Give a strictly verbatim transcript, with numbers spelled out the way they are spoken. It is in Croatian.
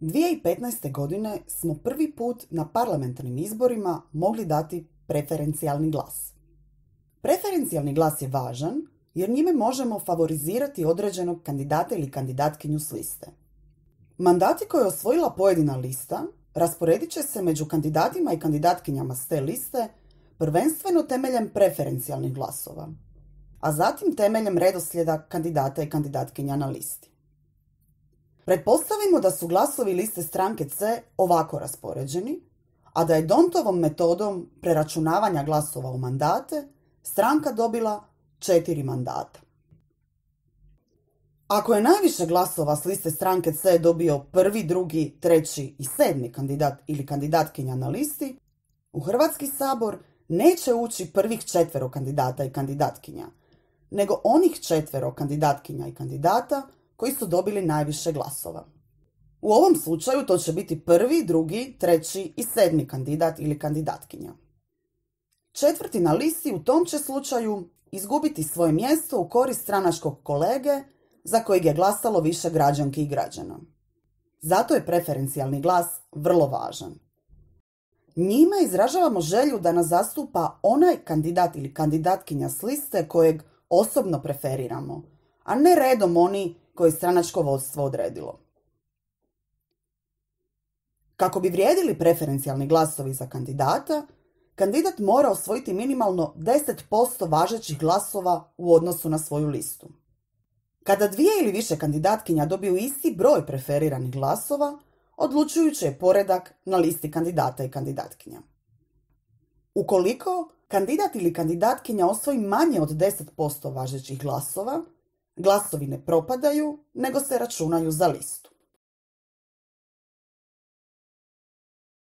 dvije tisuće petnaeste. godine smo prvi put na parlamentarnim izborima mogli dati preferencijalni glas. Preferencijalni glas je važan jer njime možemo favorizirati određenog kandidata ili kandidatkinju s liste. Mandati koje je osvojila pojedina lista rasporedit će se među kandidatima i kandidatkinjama s te liste prvenstveno temeljem preferencijalnih glasova, a zatim temeljem redoslijeda kandidata i kandidatkinja na listi. Pretpostavimo da su glasovi liste stranke C ovako raspoređeni, a da je D'Hondtovom metodom preračunavanja glasova u mandate stranka dobila četiri mandata. Ako je najviše glasova s liste stranke C dobio prvi, drugi, treći i sedmi kandidat ili kandidatkinja na listi, u Hrvatski sabor neće ući prvih četvero kandidata i kandidatkinja, nego onih četvero kandidatkinja i kandidata koji su dobili najviše glasova. U ovom slučaju to će biti prvi, drugi, treći i sedmi kandidat ili kandidatkinja. Četvrti na listi u tom će slučaju izgubiti svoje mjesto u korist stranačkog kolege za kojeg je glasalo više građanki i građana. Zato je preferencijalni glas vrlo važan. Njime izražavamo želju da nas zastupa onaj kandidat ili kandidatkinja s liste kojeg osobno preferiramo, a ne redom oni koje je stranačko vodstvo odredilo. Kako bi vrijedili preferencijalni glasovi za kandidata, kandidat mora osvojiti minimalno deset posto važećih glasova u odnosu na svoju listu. Kada dvije ili više kandidatkinja dobiju isti broj preferiranih glasova, odlučujući je poredak na listi kandidata i kandidatkinja. Ukoliko kandidat ili kandidatkinja osvoji manje od deset posto važećih glasova, glasovi ne propadaju, nego se računaju za listu.